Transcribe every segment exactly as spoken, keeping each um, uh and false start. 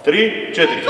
три, четири.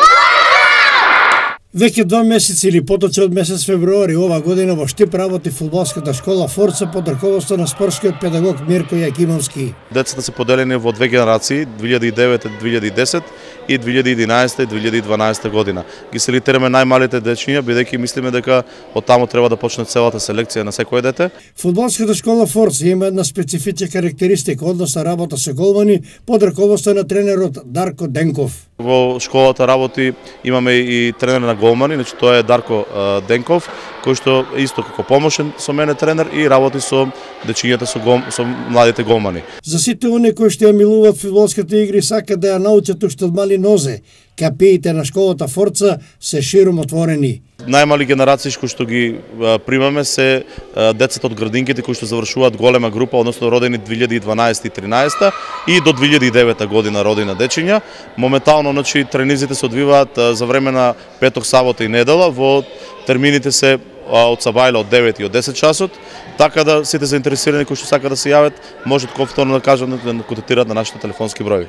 Веќе два месеци или поточе од месец февруари ова година во Штип работи фудбалската школа Форца под раководство на спортскиот педагог Мирко Јакимовски. Децата се поделени во две генерации, две илјади и девета - две илјади и десета и две илјади и единаесета - две илјади и дванаесета година. Ги селектераме најмалите дечиња, бидејќи мислиме дека од таму треба да почне целата селекција на секое дете. Фудбалската школа Форца има една специфична карактеристика, односно работа со голмани под раководство на тренерот Дарко Денков. Во школата работи имаме и тренер на голмани, значи тоа е Дарко а, Денков, кој што исто како помошен со мене тренер и работи со дечињата со гол, со младите голмани. За сите оние кои што ја милуваат фудбалските игри, сакаат да ја научат уште од мали нозе, капиите на школата Форца се широм отворени. Најмали генерации кои што ги а, примаме се а, децата од градинките кои што завршуваат голема група, односно родени две илјади и дванаесета и тринаесета и до две илјади и девета година родена дечиња. Моментално, значи, тренизите се одвиваат а, за време на петок, сабота и недела, во термините се а, од сабајле од девет и од десет часот, така да сите заинтересирани кои што сакаат да се јават, можат повторно да кажат да контактираат на нашите телефонски броеви.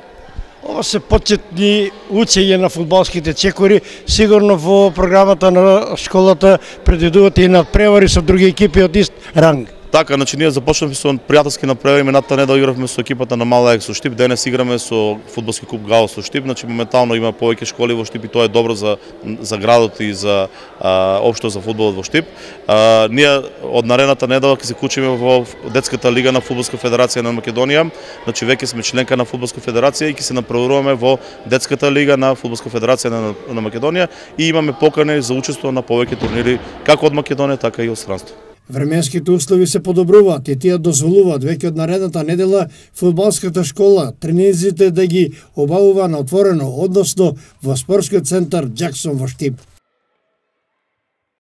Ова се почетни учење на фудбалските чекори, сигурно во програмата на школата предвидувате и надпревари со други екипи од ист ранг. Така, значи ние започнавме со пријателски надпревари, минатата недела игравме со екипата на Мала Ек со Штип, денес играме со фудбалски клуб Гао со Штип, значи моментално има повеќе школи во Штип и тоа е добро за за градот и за а, општо за фудбалот во Штип. А, ние од наредната недела ќе се вклучиме во детската лига на Фудбалска федерација на Македонија, значи веќе сме членка на Фудбалска федерација и ќе се направуваме во детската лига на Фудбалска федерација на, на Македонија и имаме покани за учество на повеќе турнири како од Македонија, така и од странство. Временските услови се подобруваат и тие дозволуваат веќе од наредната недела фудбалската школа тренизите да ги обавува на отворено, односно во спортскиот центар Џаксон во Штип.